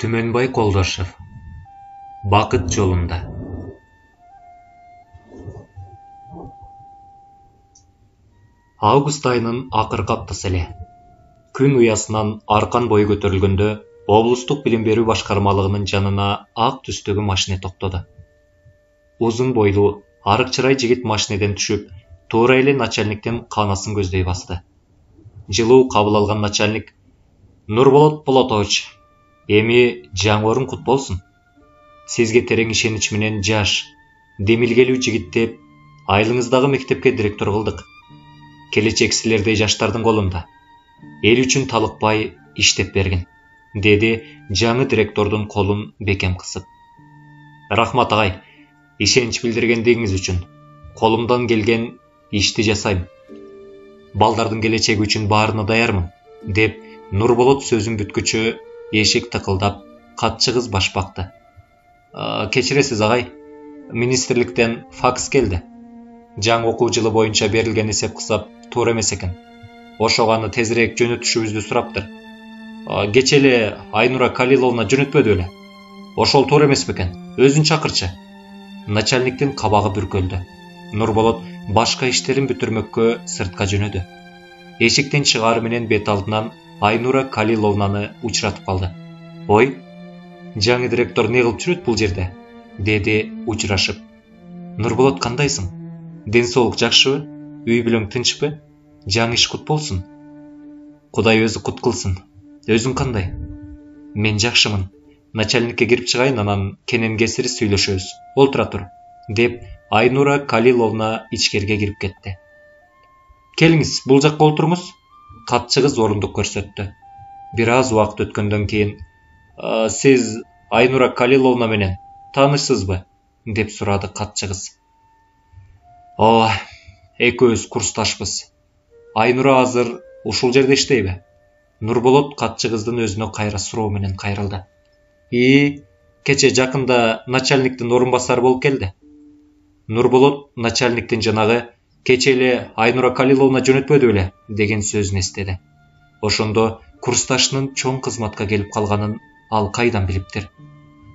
Түмөнбай Колдошев. Бакыт жолунда. Август айынын акыркы аптасы эле. Күн уясынан аркан бою көтөрүлгөндө облустук билим берүү башкармалыгынын жанына ак түстөгү машина токтоду. Узун бойлуу, арык чырай жигит машинеден түшүп, туура эле начальниктин каанасын көздөй басты. Жылуу кабыл алган начальник: Нурболот Полотович, эми жаңы орун кут болсун. Сизге терең ишенич менен жаш, демилгелүү жигит деп айылыңыздагы мектепке директор кылдык. Келечек силердей жаштардын колунда. Эл үчүн талыкпай иштеп бергин, деди жаңы директордун колун бекем кысып. Рахмат агай, ишенич билдиргендигиңиз үчүн. Колумдан келген ишти жасайм. Балдардын келечеги үчүн баарына даярмын, деп Нурболот сөзүн бүткүчө эшик тыкылдап, катчы кыз баш бакты. Кечиресиз агай, министрликтен факс келди. Жаңы окуу жылы боюнча берилген эсеп кысап туура эмес экен. Ошого аны тезирээк жөнөтүшүбүздү сураптыр. Кечээ эле Айнура Калиловна жөнөтпөдү беле? Ошол туура эмес бекен? Өзүн чакырчы. Начальниктин кабагы бүркөлдү. Нурболот башка иштерин бүтүрмөккө сыртка жөнөдү. Эшиктен чыгары менен бет алдынан Айнура Калиловнаны учуратып калды. Ой, жаңы директор не кылып жүрөт бул жерде? Деди учурашып. Нурболот, кандайсың? Ден соолук жакшыбы? Үй бүлөң тынчпы? Жаңы иш кут болсун. Кудай өзү кут кылсын. Өзүң кандай? Мен жакшымын. Начальникке кирип чыгайын, анан кенен кесири сүйлөшөбүз. Олтура тур, деп Айнура Калиловна ичкерге кирип кетти. Келиңиз, бул жакка олтуруңуз. Катчы кыз орундук көрсөттү. Бир аз убакыт өткөндөн кийин: Сиз Айнура Калиловна менен таанышсызбы? Деп сурады катчы кыз. Ооба, экөөбүз курсташпыз. Айнура азыр ушул жерде иштейби? Нурболот катчы кыздын өзүнө кайра суроо менен кайрылды. Кече жакында начальниктин орун басары болуп келди. Нурболот начальниктин жанагы кече эле Айнура Калиловна жөнөтпөдү беле деген сөзүн эстеди. Ошондо курсташынын чоң кызматка келип калганын ал кайдан билиптир?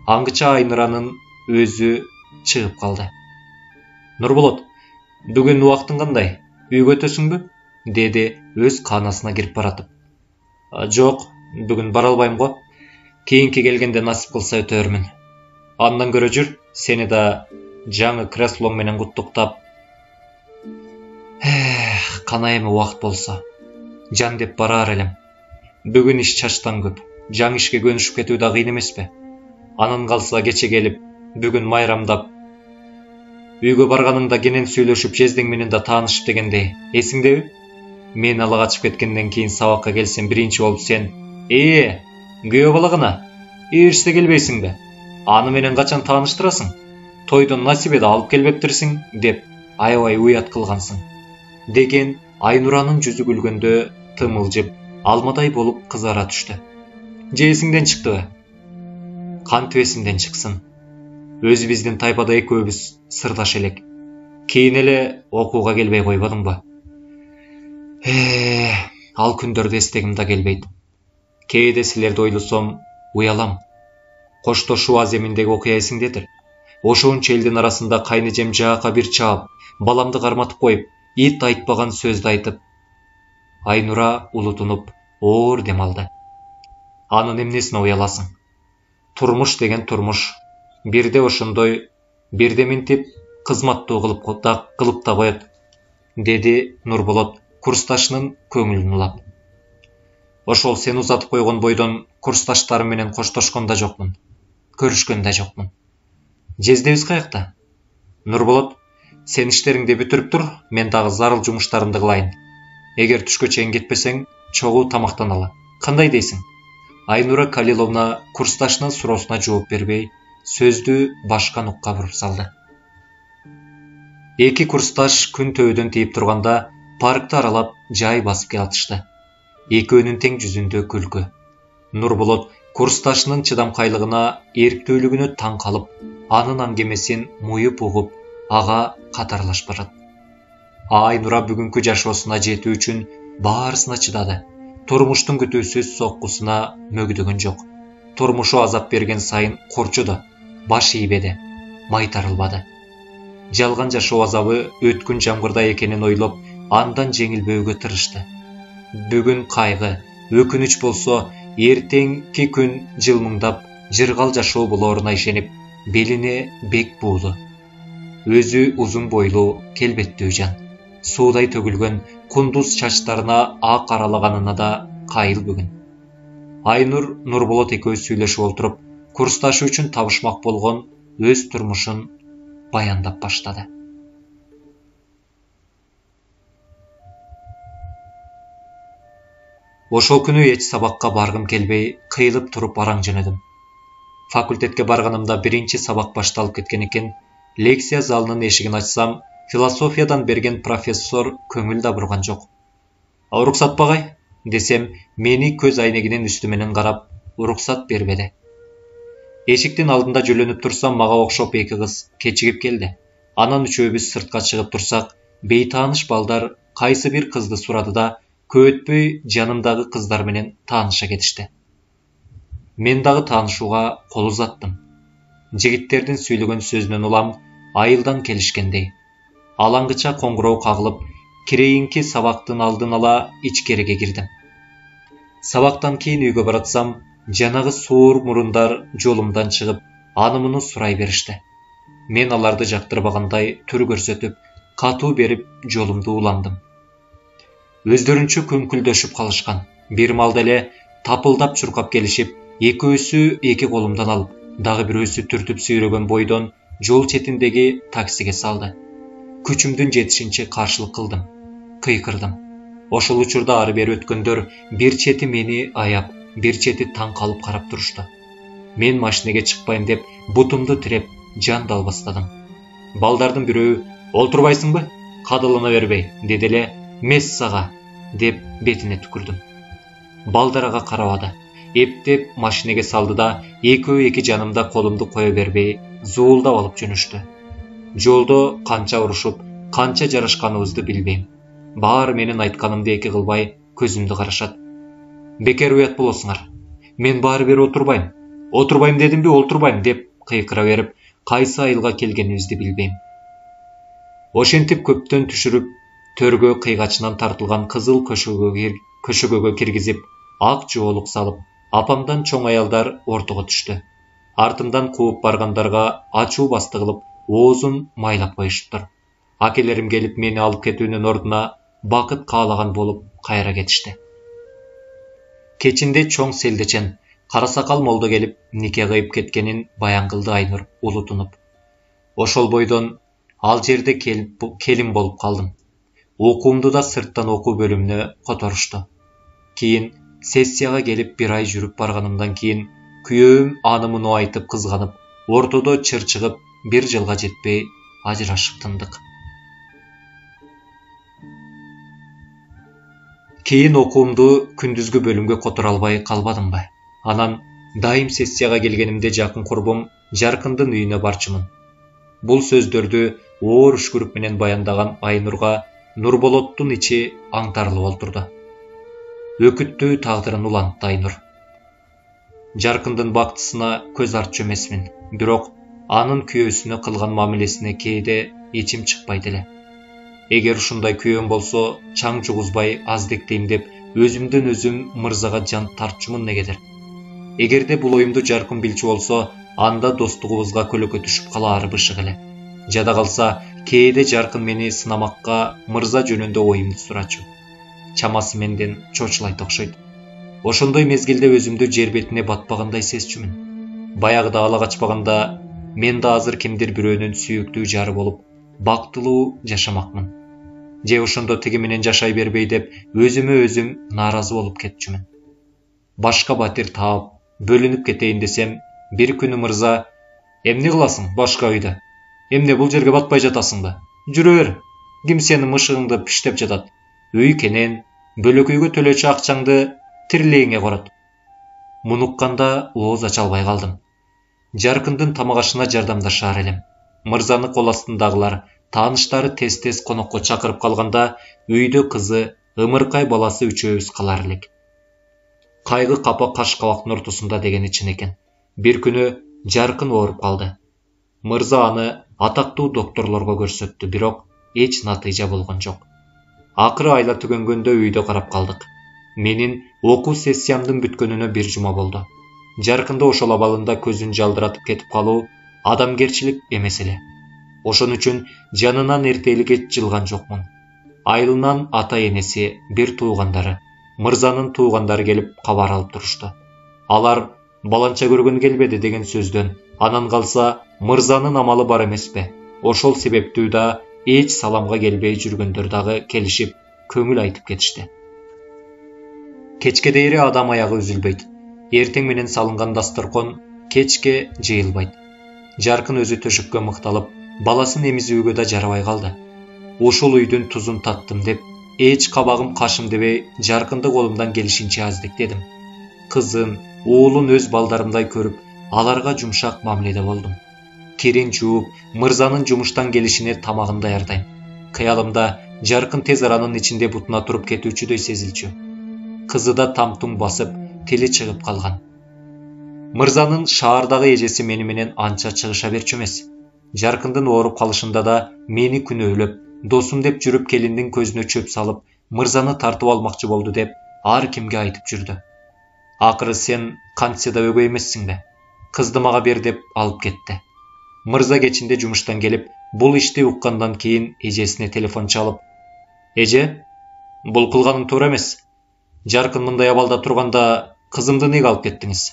Аңгыча Айнуранын өзү чыгып калды. Нурболот, бүгүн убактың кандай? Үйгө өтөсүңбү? Деди өз каанасына кирип баратып. Жок, бүгүн бара албайм го. Кийинки келгенде насип кылса өтөрмүн. Андан көрө жүр, сени да жаңы креслоң менен куттуктап. Кана эми убакыт болсо. Жан деп бараар элем. Бүгүн иш чачтан көп. Жаңы ишке көнүшүп кетүү да кыйын эмеспи? Анан калса кече келип, бүгүн майрамдап, үйгө барганыңда кенен сүйлөшүп, жездең менен да таанышып дегендей, эсиңдеби? Мен ала качып кеткенден кийин сабакка келсем, биринчи болуп сен: күйөө бала гана, эриште келбейсиңби? Аны менен качан тааныштырасың? Тойдон насибе да алып келбептирсиң, деп аябай уят кылгансың. Деген Айнуранын жүзү күлгөндө тымылжып, алмадай болуп кызара түштү. Же эсиңден чыктыбы? Кантип эсимден чыксын? Өзү биздин тайпада экөөбүз сырдаш элек. Кийин эле окууга келбей койбодуңбу? Ал күндөрдү эстегим да келбейт. Кээде силерди ойлосом, уялам. Коштошуу аземиндеги окуя эсиңдедир. Ошончо элдин арасында кайнэжем жаака бир чаап, баламды карматып коюп, ит айтпаган сөздү айтып. Айнура улутунуп, оор дем алды. Анын эмнесине уяласың? Турмуш деген турмуш. Бирде ошондой, бирде минтип кызматтуу кылып да коет, деди Нурболот курсташынын көңүлүн улап. Ошол сен узатып койгон бойдон курсташтарым менен коштошкон да жокмун, көрүшкөн да жокмун. Жездебиз каякта? Нурболот, сен иштериңди бүтүрүп тур, мен дагы зарыл жумуштарымды кылайын. Эгер түшкө чейин кетпесең, чогуу тамактаналы. Кандай дейсиң? Айнура Калиловна курсташынын суроосуна жооп бербей, сөздү башка нукка буруп салды. Эки курсташ күн төбөдөн тийип турганда паркты аралап жай басып келатышты. Экөөнүн тең жүзүндө күлкү. Нурболот курсташынын чыдамкайлыгына, эрктүүлүгүнө таң калып, анын аңгемесин муюп угуп, ага катарлашып барат. Айнура бүгүнкү жашоосуна жетүү үчүн баарысына чыдады. Турмуштун күтүүсүз соккусуна мөгдөгөн жок. турмушу азап берген сайын корчуду, баш ийбеди, майтарылбады. Жалган жашоо азабы өткөн жамгырда экенин ойлоп, андан жеңилбөөгө тырышты. Бүгүн кайгы, өкүнүч болсо, эртеңки күн жылмыңдап, жыргал жашоо болоруна ишенип, белине бек буулу. Өзү узун бойлуу, келбеттүү жан. Суудай төгүлгөн кундуз чачтарына ак аралаганына да кайыл бүгүн. Айнур Нурболот экөөбүз сүйлөшүп олтуруп, курсташы үчүн табышмак болгон өз турмушун баяндап баштады. Ошол күнү эч сабакка баргым келбей, кыйылып туруп араң жөнөдүм. Факультетке барганымда биринчи сабак башталып кеткен экен. Лекция залынын эшигин ачсам, философиядан берген профессор көңүл да бурган жок. Уруксат багай десем, мени көз айнегинин үстү менен карап, уруксат бербеди. Эшиктин алдында жөлөнүп турсам, мага окшоп эки кыз кечигип келди. Анан үчөөбүз сыртка чыгып турсак, бейтааныш балдар кайсы бир кызды сурады да, көп өтпөй жанымдагы кыздар менен тааныша кетишти. Мен дагы таанышууга кол узаттым. Жигиттердин сүйлөгөн сөзүнөн улам, айылдан келишкендей. Алаңгыча коңгуроо кагылып, кирейинки сабактын алдын ала ичкериге кирдим. Сабактан кийин үйгө баратсам, жанагы суур мурундар жолумдан чыгып, аны-муну сурай беришти. Мен аларды жактырбагандай түр көрсөтүп, катуу берип жолумду уландым. Өздөрүнчө көңкүлдөшүп калышкан. Бир малда эле тапылдап чуркап келишип, экөөсү эки колумдан алып, дагы бирөөсү түртүп сүйрөгөн бойдон жол четиндеги таксиге салды. Күчүмдүн жетишинче каршылык кылдым, кыйкырдым. Ошол учурда ары бери өткөндөр бир чети мени аяп, бир чети таң калып карап турушту. Мен машинеге чыкпайм деп бутумду тиреп жан дал бастадым. Балдардын бирөө "Олтурбайсыңбы? Кадылына бербей" деди эле "Мес сага" деп бетине түкүрдүм. Балдар ага карабады. Эптеп машинеге салды да, экөө эки жанымда колумду кое бербей, зуулдап алып жөнүштү. Жолдо канча урушуп, канча жарашканыбызды билбейм. Баары менин айтканымды эки кылбай көзүмдү карашат. "Бекер уят болосуңар. Мен баары бери отурбайм. Отурбайм дедимби, олтурбайм" деп кыйкыра берип, кайсы айылга келгенибизди билбейм. Ошентип көптөн түшүрүп, төргө кыйгачынан тартылган кызыл көшөгөгө киргизип, ак жоолук салып, апамдан чоң аялдар ортого түштү. Артымдан кууп баргандарга ачуу басты кылып, оозун майлап коюшуптур. Акелерим келип мени алып кетүүнүн ордуна бакыт каалаган болуп кайра кетишти. Кечинде чоң селдечен, кара сакал молдо келип нике кыйып кеткенин баян кылды Айнур улутунуп. Ошол бойдон ал жерде келин болуп калдым. Окуумду да сырттан окуу бөлүмүнө которушту. Кийин сессияга келип бир ай жүрүп барганымдан кийин күйөөм аны-муну айтып кызганып, ортодо чыр чыгып, бир жылга жетпей ажырашып тындык. Кийин окуумду күндүзгү бөлүмгө которо албай калбадымбы? Анан дайым сессияга келгенимде жакын курбум Жаркындын үйүнө барчумун. Бул сөздөрдү оор үшкүрүк менен баяндаган Айнурга Нурболоттун ичи аңтарылып олтурду. Өкүттүү тагдырын улантты Айнур. Жаркындын бактысына көз артчу эмесмин, бирок анын күйөөсүнө кылган мамилесине кээде ичим чыкпайт эле. Эгер ушундай күйөөм болсо, чаң жугузбай аздектейм деп өзүмдөн өзүм мырзага жан тартчумун негедир. Эгерде бул оюмду Жаркын билчү болсо, анда достугубузга көлөкө түшүп калаары бышык эле. Жада калса, кээде Жаркын мени сынамакка мырза жөнүндө оюмду сурачу. Чамасы менден чочулайт окшойт. Ошондой мезгилде өзүмдү жер бетине батпагандай сезчүмүн. Баягыда ала качпаганда, мен да азыр кимдир бирөөнүн сүйүктүү жары болуп, бактылуу жашамакмын. Же ошондо тиги менен жашай бербей деп өзүмө өзүм нааразы болуп кетчүмүн. Башка батир таап, бөлүнүп кетейин десем, бир күнү мырза: "Эмне кыласың башка үйдө? Эмне бул жерге батпай жатасыңбы? Жүрө бер. Ким сенин мышыгыңды пиштеп жатат? Үй кенен, бөлөкөйгө төлөчү акчаңды тирилейиңе корот." Мунукканда ооз ача албай калдым. Жаркындын тамак ашына жардамдашаар элем. Мырзаны кол астындагылар, тааныштары тез-тез конокко чакырып калганда, үйдө кызы, ымыркай баласы үчөөбүз калар элек. кайгы капа каш кабактын ортосунда дегени чын экен. Бир күнү Жаркын ооруп калды. Мырза аны атактуу докторлорго көрсөттү, бирок эч натыйжа болгон жок. Акыры айла түгөнгөндө үйдө карап калдык. Менин окуу сессиямдын бүткөнүнө бир жума болду. Жаркынды ошол абалында көзүн жалдыратып кетип калуу адамгерчилик эмес эле. Ошон үчүн жанынан эртеликке жылган жокмун. Айылынан ата-энеси, бир туугандары, мырзанын туугандары келип кабар алып турушту. Алар баланча көргөн келбеди деген сөздөн, анан калса мырзанын амалы бар эмеспи? Ошол себептүү да эч саламга келбей жүргөндөр дагы келишип, көңүл айтып кетишти. Кечке дейре адам аягы үзүлбөйт. Эртең менен салынган дасторкон кечке жыйылбайт. Жаркын өзү төшөккө мыкталып, баласын эмизүүгө да жарабай калды. Ушул үйдүн тузун таттым деп, эч кабагым кашым дебей, Жаркынды колумдан келишинче аздектедим. Кызын, уулун өз балдарымдай көрүп, аларга жумшак мамиледе болдум. Кирин жууп, мырзанын жумуштан келишине тамагын даярдайм. Кыялымда Жаркын тез аранын ичинде бутуна туруп кетүүчүдөй сезилчү. Кызы да там-туң басып, тили чыгып калган. Мырзанын шаардагы эжеси мени менен анча чыгыша берчү эмес. Жаркындын ооруп калышында да мени күнөөлөп, досум деп жүрүп келиндин көзүнө чөп салып, мырзаны тартып алмакчы болду деп ар кимге айтып жүрдү. Акыры сен кантсе да өгөй эмессиңби? Кызды мага бер деп алып кетти. Мырза кечинде жумуштан келип, бул ишти уккандан кийин эжесине телефон чалып: "Эже, бул кылганың туура эмес. Жаркын мындай абалда турганда кызымды неге алып кеттиңиз?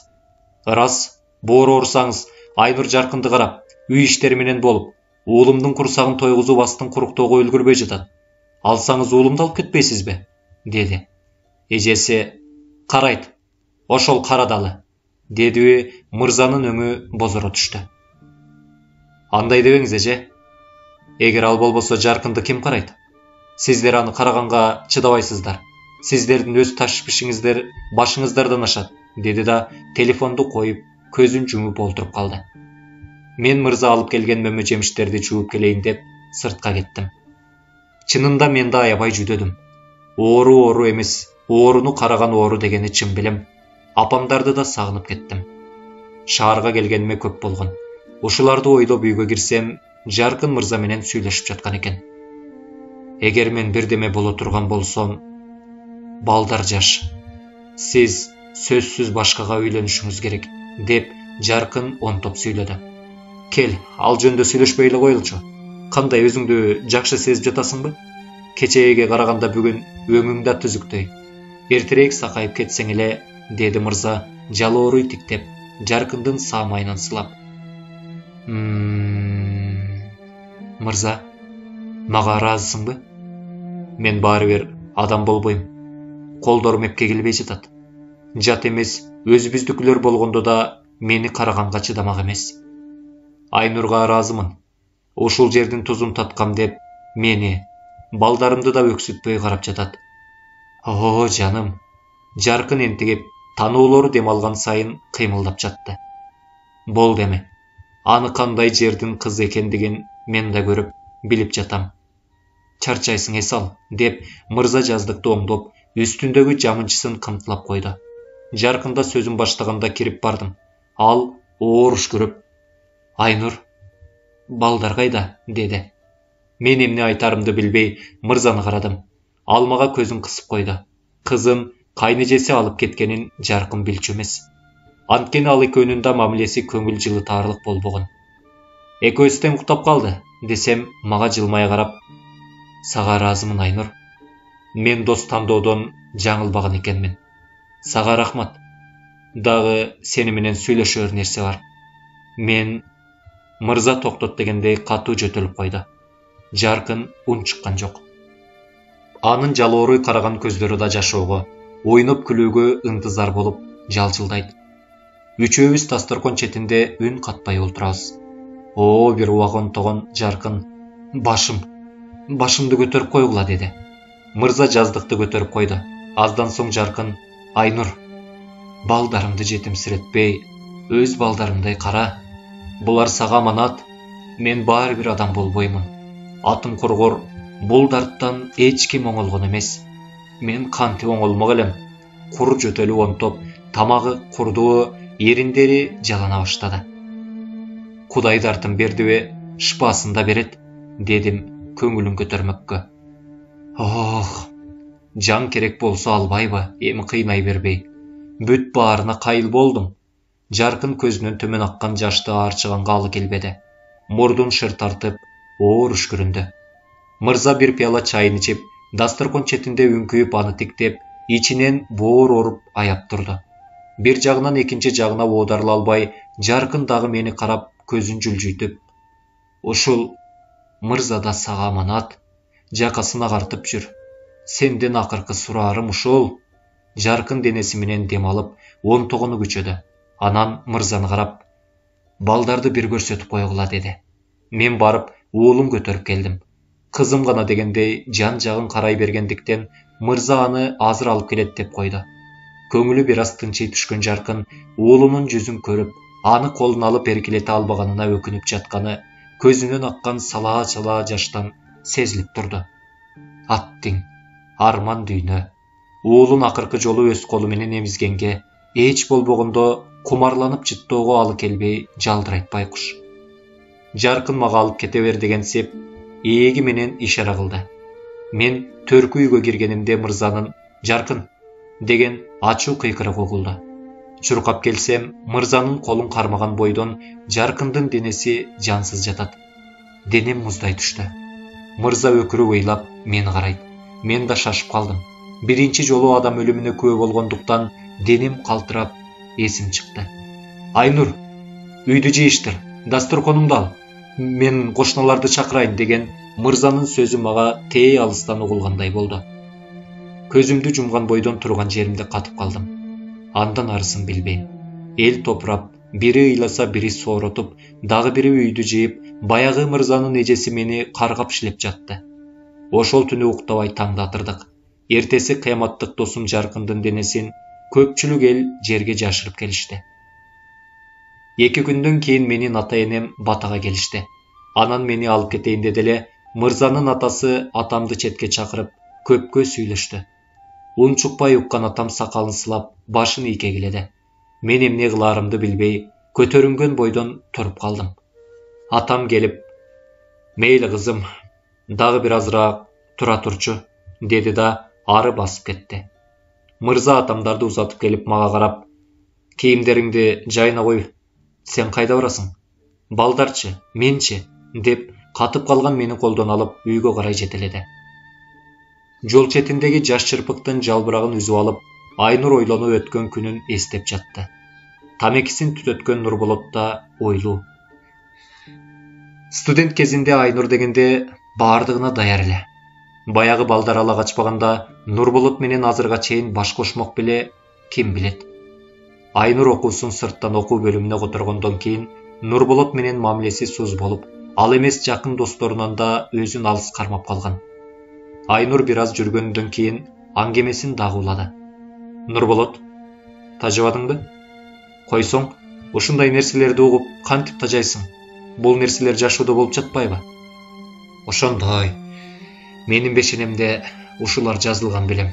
Рас, боору оорусаңыз, Айнур Жаркынды карап, үй иштери менен болуп, уулумдун курсагын тойгузуу астын куруктоого үлгүрбөй жатат. Алсаңыз уулумду алып кетпейсизби?" деди. Эжеси: "Карайт, ошол карадалы", дедиби, мырзанын өңү бозоро түштү. "Андай дебеңиз, эже. Эгер ал болбосо Жаркынды ким карайт? Сиздер аны караганга чыдабайсыздар. Сиздердин өз ташпишиңиздер башыңыздардан ашат", деди да телефонду коюп, көзүн жумуп олтуруп калды. Мен мырза алып келген мөмө жемиштерди жууп келейин деп сыртка кеттим. Чынында мен да аябай жүдөдүм. Оору эмес, ооруну караган оору дегени чын билем. Апамдарды да сагынып кеттим. Шаарга келгениме көп болгон. Ушуларды ойлоп үйгө кирсем, Жаркын мырза менен сүйлөшүп жаткан экен. "Эгер мен бирдеме боло турган болсом, балдар жаш. Сиз сөзсүз башкага үйлөнүшүңүз керек", деп Жаркын онтоп сүйлөдү. "Кел, ал жөнүндө сүйлөшпөй эле коелучу. Кандай, өзүңдү жакшы сезип жатасыңбы? Кечээге караганда бүгүн өңүң да түзүктөй. Эртерээк сакайып кетсең эле", деди мырза жалооруй тиктеп, Жаркындын саамайынан сылап. "Мырза, мага ыраазысыңбы? Мен баары бир адам болбойм. Колдорум эпке келбей жатат. Жат эмес, өзүбүздүкүлөр болгондо да мени караганга чыдамак эмес. Айнурга ыраазымын. Ушул жердин тузун таткам деп мени, балдарымды да өксүтпөй карап жатат. О, жаным." Жаркын энтигип, тануулору дем алган сайын кыймылдап жатты. "Болду эми. Аны кандай жердин кызы экендигин мен да көрүп, билип жатам. Чарчайсың эс ал", деп мырза жаздыкты оңдоп, үстүндөгү жамынчысын кымтылап койду. Жаркында сөзүн баштаганда кирип бардым. Ал ооруш көрүп: "Айнур, балдар кайда?" деди. Мен эмне айтарымды билбей мырзаны карадым. Ал мага көзүн кысып койду. Кызын кайнэжеси алып кеткенин Жаркын билчү эмес. Анткени ал экөөнүн да мамилеси көңүл жылытаарлык болбогон. "Экөөсү тең уктап калды", десем, мага жылмая карап: "Сага ыраазымын, Айнур. Мен дос тандоодон жаңылбаган экенмин. Сага рахмат. Дагы сени менен сүйлөшөр нерсе бар. Мен..." Мырза токтот дегендей катуу жөтөлүп койду. Жаркын унчуккан жок. Анын жалооруй караган көздөрү да жашоого, ойноп күлүүгө ынтызар болуп жалжылдайт. Үчөөбүз дасторкон четинде үн катпай олтурабыз. "О, бир убак онтогон Жаркын, башымды көтөрүп койгула", деди. Мырза жаздыкты көтөрүп койду. Аздан соң Жаркын: "Айнур, балдарымды жетимсиретпей, өз балдарымдай кара. Булар сага аманат. Мен баары бир адам болбоймун. Атым кургор, бул дарттан эч ким оңолгон эмес. Мен кантип оңолмок элем. кур жөтөлүп онтоп, тамагы курдуу, эриндери жалана баштады. Кудай дартын бердиби, шпасын да берет, дедим көңүлүн көтөрмөккө. Ох, жан керек болсо албайбы, эми кыйнай бербей. Бүт баарына кайыл болдум. Жаркын көзүнөн төмөн аккан жашты аарчыганга алы келбеди. Мурдун шыр тартып, оор үшкүрүндү. Мырза бир пияла чайын ичип, дасторкон четинде үңкүйүп аны тиктеп, ичинен боор оруп аяп турду. Бир жагынан экинчи жагына оодарыла албай, Жаркын дагы мени карап, көзүн жүлжүйтүп: "Ушул мырза да сага аманат, жакасын агартып жүр. Сенден акыркы сураарым ушул." Жаркын денеси менен дем алып, онтогону күчөдү. Анан мырзаны карап: "Балдарды бир көрсөтүп койгула", деди. Мен барып, уулум көтөрүп келдим. Кызым гана дегендей жан жагын карай бергендиктен мырза аны азыр алып келет деп койду. Көңүлү бир аз тынчый түшкөн Жаркын уулунун жүзүн көрүп, аны колуна алып эркелете албаганына өкүнүп жатканы көзүнөн аккан салаа-салаа жаштан сезилип турду. Аттиң, арман дүйнө. Уулун акыркы жолу өз колу менен эмизгенге, эч болбогондо кумарланып жыттоого алы келбей жалдырайт байкуш. Жаркын мага алып кете бер дегенсип, ээги менен ишара кылды. Мен төркү үйгө киргенимде мырзанын "Жаркын" деген ачуу кыйкырыгы угулду. Чуркап келсем, мырзанын колун кармаган бойдон Жаркындын денеси жансыз жатат. Денем муздай түштү. Мырза өкүрүп ыйлап мени карайт. Мен да шашып калдым. Биринчи жолу адам өлүмүнө күбө болгондуктан денем калтырап, эсим чыкты. "Айнур, үйдү жыйыштыр, дасторконумду ал. Мен кошуналарды чакырайын" деген мырзанын сөзү мага тээ алыстан угулгандай болду. Көзүмдү жумган бойдон турган жеримде катып калдым. Андан арысын билбейм. Эл топурап, бири ыйласа бири сооротуп, дагы бири үйдү жыйып, баягы мырзанын эжеси мени каргап шилеп жатты. Ошол түнү уктабай таңдатырдык. Эртеси кыяматтык досум Жаркындын денесин көпчүлүк эл жерге жашырып келишти. 2 күндөн кийин менин ата-энем Батага келишти. Анан мени алып кетейин деди эле, мырзанын атасы атамды четке чакырып, көпкө сүйлөштү. Унчукпай уккан атам сакалын сылап, башын ийкегиледи. Мен эмне кылаарымды билбей, көтөрүнгөн бойдон туруп калдым. Атам келип: "Мейли кызым, дагы бир азыраак тура турчу", деди да ары басып кетти. Мырза атамдарды узатып келип мага карап: "Кийимдериңди жайына кой, сен кайда барасың? Балдарчы, менчи?" деп катып калган мени колдон алып үйгө карай жетеледи. Жол четиндеги жаш чырпыктын жалбырагын үзүп алып, Айнур ойлонуп өткөн күнүн эстеп жатты. Тамекисин түтөткөн Нурболот да ойлуу. Студент кезинде Айнур дегенде баардыгына даяр эле. Баягы балдар ала качпаганда Нурболот менен азырга чейин баш кошмок беле, ким билет. Айнур окуусун сырттан окуу бөлүмүнө которгондон кийин Нурболот менен мамилеси суз болуп, ал эмес жакын досторунан да өзүн алыс кармап калган. Айнур бир аз жүргөндөн кийин аңгемесин дагы улады. "Нурболот, тажыбадыңбы? Койсоң, ушундай нерселерди угуп кантип тажайсың? Бул нерселер жашоодо болуп жатпайбы?" "Ошондой. Менин бешенемде ушулар жазылган белем.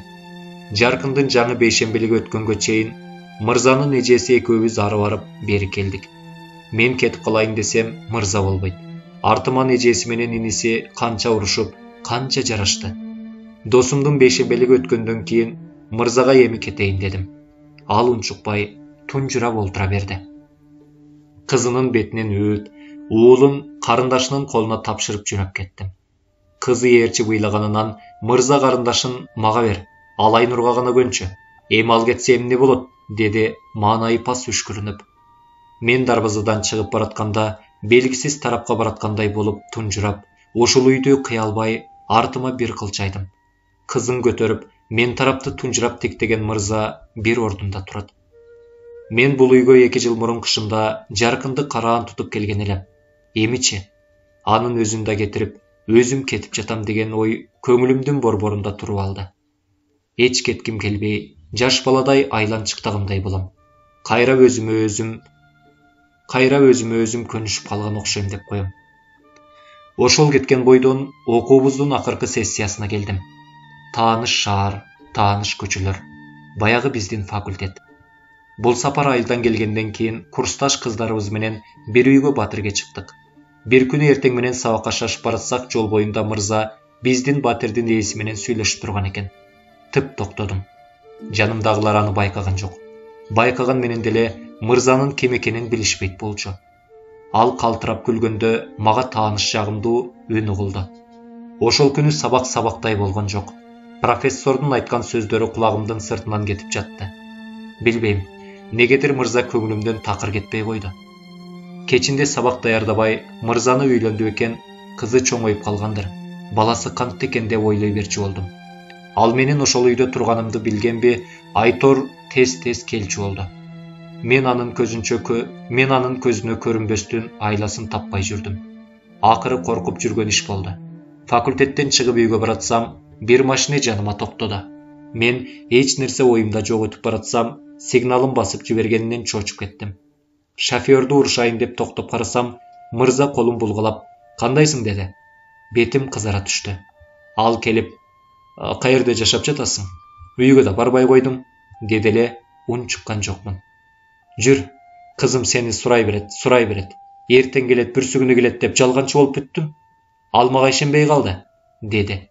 Жаркындын жаңы бейшембилиги өткөнгө чейин мырзанын эжеси экөөбүз ары барып бери келдик. Мен кетип калайын десем, мырза болбойт. Артыман эжеси менен иниси канча урушуп, канча жарашты. Досумдун бейшембилиги өткөндөн кийин мырзага эми кетейин дедим. Ал унчукпай тунжурап олтура берди. Кызынын бетинен өөт, уулун карындашынын колуна тапшырып жөнөп кеттим. Кызы ээрчи быйлаганынан мырза карындашын мага бер, ал Айнурга гана көнчү. Эми ал кетсе эмне болот, деди маанайы пас үшкүрүнүп. Мен дарбазадан чыгып баратканда, белгисиз тарапка бараткандай болуп тунжурап, ушул үйдү кыя албай артыма бир кылчайдым. Кызын көтөрүп, мен тарапты тунжурап тиктеген мырза бир ордунда турат. Мен бул үйгө 2 жыл мурун кышында Жаркынды караан тутуп келген элем. Эмичи, анын өзүн да кетирип, өзүм кетип жатам деген ой көңүлүмдүн борборунда туруп алды. Эч кетким келбей, жаш баладай айланчыктагандай болом. Кайра өзүмө өзүм көнүшүп калган окшойм деп коем. Ошол кеткен бойдон окуубуздун акыркы сессиясына келдим. Тааныш шаар, тааныш көчөлөр. баягы биздин факультет. Бул сапар айылдан келгенден кийин курсташ кыздарыбыз менен бир үйгө батирге чыктык. Бир күнү эртең менен сабакка шашып баратсак, жол боюнда мырза биздин батирдин ээси менен сүйлөшүп турган экен. Тып токтодум. Жанымдагылар аны байкаган жок. Байкаган менен деле мырзанын ким экенин билишпейт болчу. Ал калтырап күлгөндө мага тааныш жагымдуу үн угулду. Ошол күнү сабак сабактай болгон жок. Профессордун айткан сөздөрү кулагымдын сыртынан кетип жатты. Билбейм, негедир мырза көңүлүмдөн такыр кетпей койду. Кечинде сабак даярдабай мырзаны үйлөндү экен, кызы чоңоюп калгандыр. Баласы кантты экен деп ойлой берчү болдум. Ал менен ошол үйдө турганымды билгенби, Айтор тез-тез келчү болду. Мен анын көзүнө көрүнбөстүн айласын таппай жүрдүм. Акыры коркуп жүргөн иш болду. Факультеттен чыгып үйгө баратсам, бир машина жаныма токтоду. Мен эч нерсе оюмда жок өтүп баратсам, сигналын басып жибергенинен чочуп кеттим. Шофёрдү урушайын деп токтоп карасам, мырза колун булгалап, "Кандайсың?" деди. Бетим кызара түштү. Ал келип, "Каерде жашап жатасың? Үйгө да барбай койдуң", деди эле, ун чыккан жокмун. "Жүр, кызым сени сурай берет. Эртең келет, бүрсүгүнү келет деп жалганчы болуп бүттүм. Ал мага ишенбей калды", деди.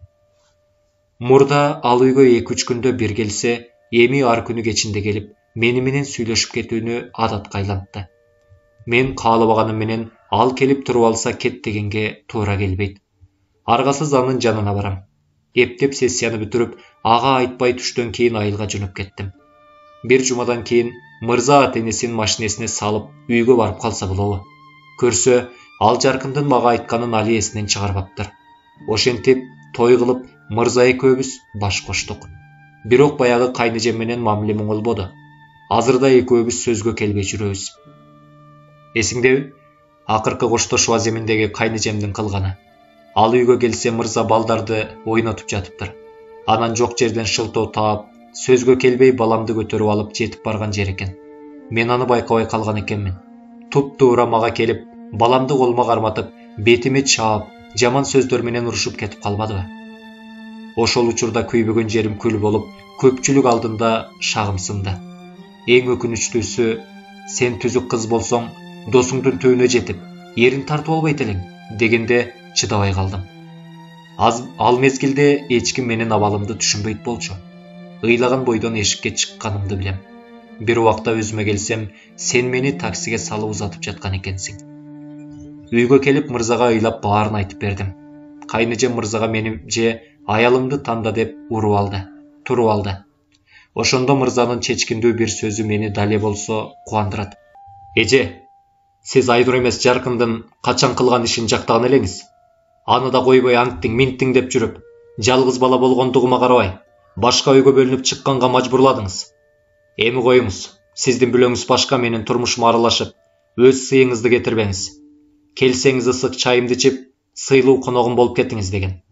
Мурда ал үйгө 2-3 күндө бир келсе, эми ар күнү кечинде келип, мени менен сүйлөшүп кетүүнү адатка айлантты. Мен каалабаганым менен ал келип туруп алса кет дегенге туура келбейт. Аргасыз анын жанына барам. Эптеп сессияны бүтүрүп, ага айтпай түштөн кийин айылга жөнөп кеттим. Бир жумадан кийин мырза ата-энесин машинесине салып үйгө барып калса болобу. Көрсө, ал жаркындын мага айтканын али эсинен чыгарбаптыр. Ошентип, той кылып, мырза экөөбүз баш коштук. Бирок баягы кайнэжем менен мамилем оңолбоду. Азырда экөөбүз сөзгө келбей жүрөбүз. Эсиңдеби? Акыркы коштошуу аземиндеги кайнэжемдин кылганы. Ал үйгө келсе мырза балдарды ойнотуп жатыптыр. Анан жок жерден шылтоо таап, сөзгө келбей баламды көтөрүп алып жетип барган жер экен. Мен аны байкабай калган экенмин. Туп-туура мага келип, баламды колума карматып, бетиме чаап, жаман сөздөр менен урушуп кетип калбадыбы? Ошол учурда күйбөгөн жерим күл болуп, көпчүлүк алдында шагым сынды. Эң өкүнүчтүүсү, сен түзүк кыз болсоң, досуңдун түбүнө жетип, эрин тартып албайт элең, дегенде чыдабай калдым. Ал мезгилде эч ким менин абалымды түшүнбөйт болчу. Ыйлаган бойдон эшикке чыкканымды билем. Бир убакта өзүмө келсем, сен мени таксиге салып узатып жаткан экенсиң. Үйгө келип мырзага ыйлап баарын айтып бердим. Кайнэжем мырзага мени же аялымды танда деп туруп алды. Ошондо мырзанын чечкиндүү бир сөзү мени дале болсо кубандырат. "Эже, сиз Айнур эмес Жаркындын качан кылган ишин жактаган элеңиз. Аны да койбой аңттиң, минттиң деп жүрүп, жалгыз бала болгондугума карабай, башка үйгө бөлүнүп чыкканга мажбурладыңыз. Эми коюңуз, сиздин бүлөңүз башка менин турмушума аралашып, өз сыйыңызды кетирбеңиз. Келсеңиз ысык чайымды ичип, сыйлуу коногум болуп кетиңиз" деген.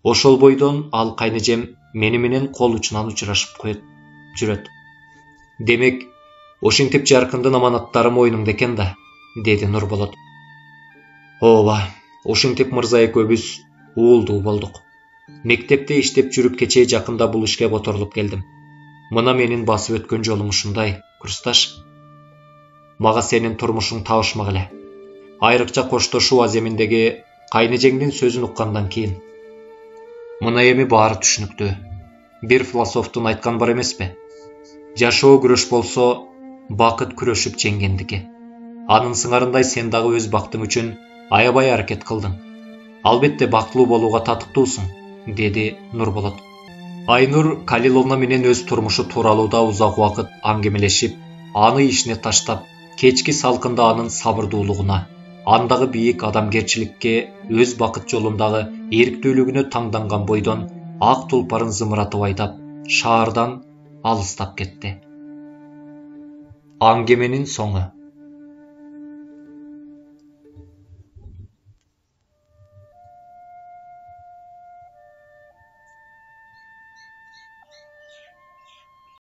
Ошол бойдон ал кайнэжем мени менен кол учунан учурашып жүрөт. "Демек, ошентип Жаркындын аманаттары моюнуңда экен да", деди Нурболот. Ооба, ошентип мырза экөөбүз уулдуу болдук. Мектепте иштеп жүрүп кечээ жакында бул ишке которулуп келдим. Мына менин басып өткөн жолум ушундай, курсташ. Мага сенин турмушуң табышмак эле. Айрыкча коштошуу аземиндеги кайнэжеңдин сөзүн уккандан кийин. Мына эми баары түшүнүктүү. Бир философтун айтканы бар эмеспи? Жашоо күрөш болсо, бакыт күрөшүп жеңгендики. Анын сыңарындай сен дагы өз бактың үчүн аябай аракет кылдың. Албетте бактылуу болууга татыктуусуң, деди Нурболот. Айнур Калиловна менен өз турмушу тууралуу да узак убакыт аңгемелешип, аны ишине таштап, кечки салкында анын сабырдуулугуна, андагы бийик адамгерчиликке, өз бакыт жолундагы эрктүүлүгүнө таңданган бойдон ак тулпарын зымыратып айдап, шаардан алыстап кетти. Аңгеменин соңу.